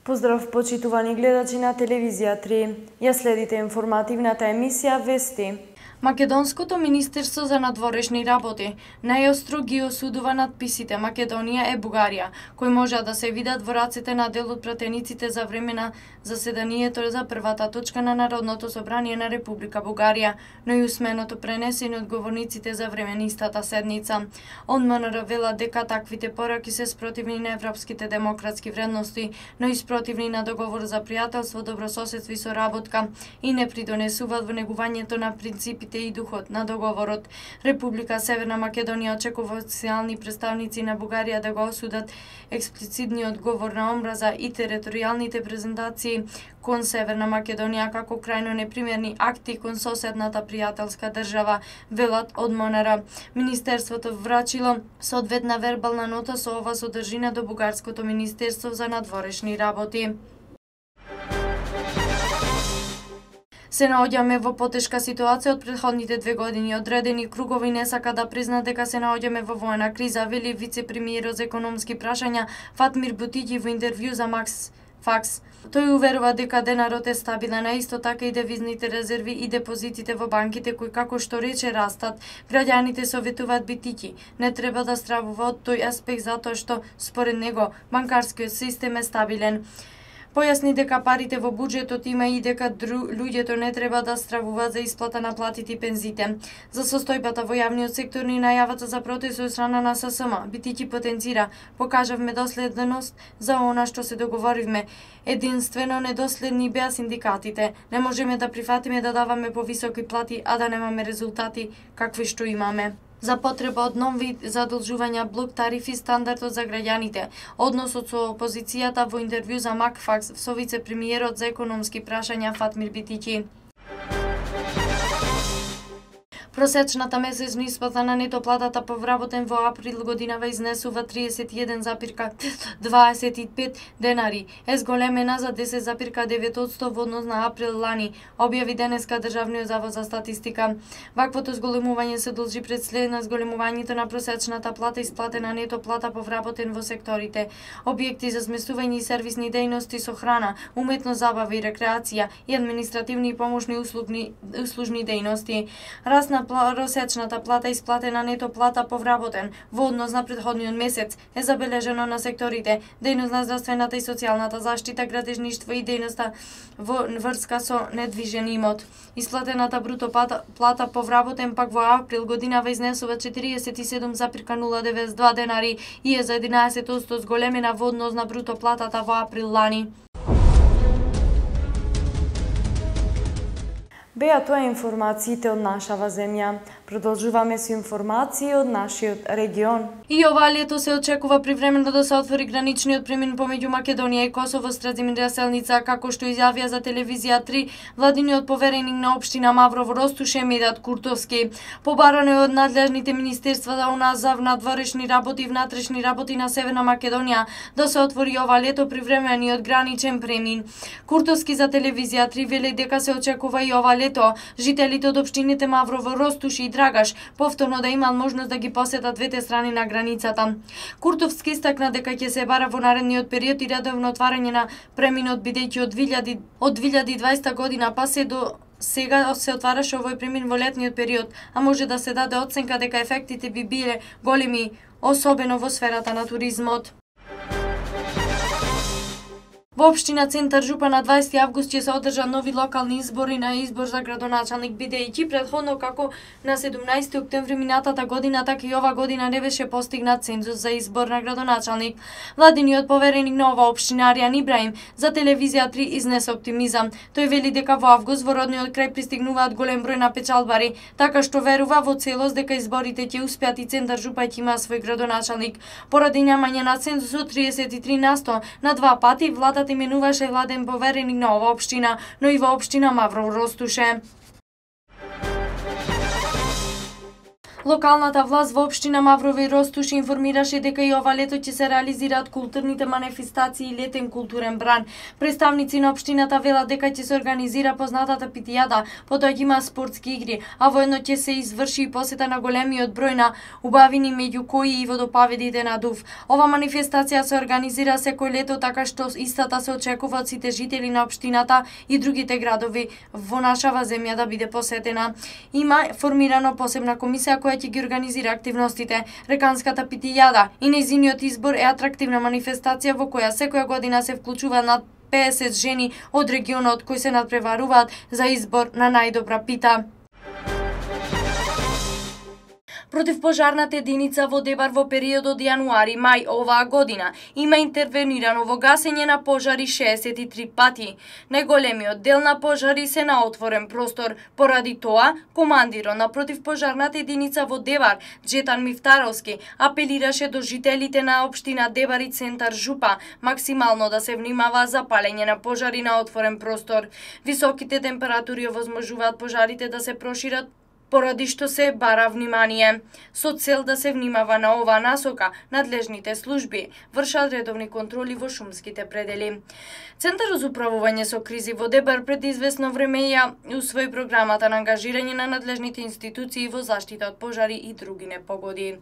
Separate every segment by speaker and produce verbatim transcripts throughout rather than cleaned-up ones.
Speaker 1: Поздрав, почитувани гледачи на телевизија три. Ја следите информативната емисија Вести.
Speaker 2: Македонското министерство за надворешни работи најостро ги осудува надписите Македонија е Бугарија, кои може да се видат во раците на дел од пратениците за време на заседанието за првата точка на Народното собрание на Република Бугарија, но и усменото пренесени од говорниците за време на истата седница. ОМНР вела дека таквите пораки се спротивни на европските демократски вредности, но и спротивни на договор за пријателство, добрососедство и соработка и не придонесуваат во негувањето на принципите и духот на договорот. Република Северна Македонија очекува официјални представници на Бугарија да го осудат експлицитниот говор на омраза и територијалните презентации кон Северна Македонија како крајно непримерни акти кон соседната пријателска држава, велат од МНР. Министерството врачило соодветна вербална нота со ова содржина до Бугарското министерство за надворешни работи. Се наоѓаме во потешка ситуација од претходните две години. Одредени кругови не сака да признаат дека се наоѓаме во воена криза, вели вице-премиерот за економски прашања Фатмир Бутиќи во интервју за Макс Факс. Тој уверува дека денарот е стабилен, а исто така и девизните резерви и депозитите во банките кои како што рече растат. Граѓаните советуваат Бутиќи не треба да стравува од тој аспект затоа што според него банкарскиот систем е стабилен. Појасни дека парите во буџетот има и дека дру... луѓето не треба да стравуваат за исплата на платите и пензите. За состојбата во јавниот сектор и најавата за протест од страна на ССМ, Бутиќи потенцира: покажавме доследност за она што се договоривме. Единствено недоследни беа синдикатите. Не можеме да прифатиме да даваме повисоки плати, а да немаме резултати какви што имаме. За потреба од нови задолжувања, блок тарифи, стандардот за граѓаните. Односот со опозицијата во интервју за Макфакс со вице-премиерот за економски прашања Фатмир Бутиќи. Просечната месечна исплата на нето платата по вработен во април годинава изнесува триесет и еден запир дваесет и пет денари, е зголемена за десет запир девет одсто во однос на април лани, објави денеска Државниот завод за статистика. Ваквото зголемување се должи пред след на зголемувањето на просечната плата исплатена нето плата по вработен во секторите: објекти за сместување и сервисни дејности со храна, уметно забава и рекреација и административни и помошни услугни, услужни дејности. Расна просечната плата исплатена нето плата по вработен во однос на претходниот месец е забележено на секторите: дејност на здравствената и социјалната заштита, градежништво и дејноста во врска со недвижен имот. Исплатената бруто плата, плата по вработен пак во април годинава изнесува четириесет и седум запир нула деветдесет и два денари и е за единаесет одсто зголемена во однос на бруто платата во април лани.
Speaker 1: Беа тоа информациите од нашава земја. Продолжуваме со информации од нашиот регион.
Speaker 2: И ова лето се очекува привремено да се отвори граничниот премин помеѓу Македонија и Косово Стразимир Селница, како што изјавија за телевизија три владиниот повереник на општина Маврово Ростуше Медат Куртовски. Побарано е од надлежните министерства за она за надворешни работи и внатрешни работи на Северна Македонија да се отвори ова лето привремениот граничен премин. Куртовски за телевизија три вели дека се очекува и ова лето жителите од општините Маврово, Ростуше и Драгаш повторно да имаат можност да ги посетат двете страни на границата. Куртовски истакна дека ќе се бара во наредниот период и редовно отварање на преминот, бидејќи од две илјади и дваесета година па се до сега се отвараше овој премин во летниот период, а може да се даде оценка дека ефектите би биле големи, особено во сферата на туризмот. Во општина Центар Жупа на дваесети август ќе се одржат нови локални избори на избор за градоначалник, бидејќи претходно како на седумнаесети октомври минатата година, така и ова година не беше постигнат цензус за избор на градоначалник. Владиниот повереник на ова општина Аријан Ибраим за телевизија три изнесе оптимизам. Тој вели дека во август во родниот крај пристигнуваат голем број на печалбари, така што верува во целост дека изборите ќе успеат и Центар Жупа ќе има свој градоначалник. Поради немање на цензусот триесет и три на сто на два пати владата именуваше владен повереник на ова општина, но и во општина Маврово Ростуше. Локалната власт во општина Маврово и Ростуш информираше дека и ова лето ќе се реализираат културните манифестации и летен културен бран. Представници на општината велат дека ќе се организира познатата питијада, потоа ќе има спортски игри, а воедно ќе се изврши и посета на големиот број на убавини меѓу кои и водопаведите на Дув. Ова манифестација се организира секој лето, така што истата се очекува од сите жители на општината и другите градови во нашава земја да биде посетена. Има формирано посебна комисија која ќе ги организира активностите. Реканската питијада и нејзиниот избор е атрактивна манифестација во која секоја година се вклучува над песет жени од регионот кои се надпреваруваат за избор на најдобра пита. Противпожарната единица во Дебар во периодот јануари-мај оваа година има интервенирано во гасење на пожари шеесет и три пати. Најголемиот дел на пожари се на отворен простор. Поради тоа, командирот на противпожарната единица во Дебар, Джетан Мифтаровски, апелираше до жителите на општина Дебар и центар Жупа максимално да се внимава за палење на пожари на отворен простор. Високите температури овозможуваат пожарите да се прошират, поради што се бара внимание. Со цел да се внимава на оваа насока, надлежните служби вршат редовни контроли во шумските предели. Центарот за управување со кризи во Дебар пред известно време ја усвои програмата на ангажирање на надлежните институции во заштита од пожари и други непогоди.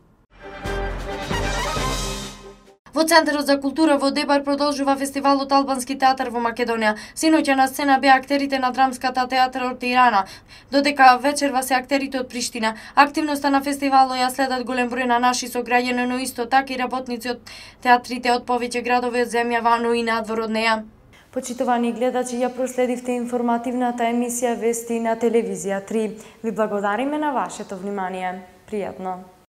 Speaker 2: Во Центарот за култура во Дебар продолжува фестивалот Албански театар во Македонија. Синоќа на сцена беа актерите на драмската театар од Тирана, додека вечерва се актерите од Приштина. Активноста на фестивалот ја следат голем број на наши сограѓани, но исто така и работници од театрите од повеќе градови од земјава, но и надвор од неа.
Speaker 1: Почитувани гледачи, ја проследивте информативната емисија Вести на телевизија три. Ви благодариме на вашето внимание. Пријатно.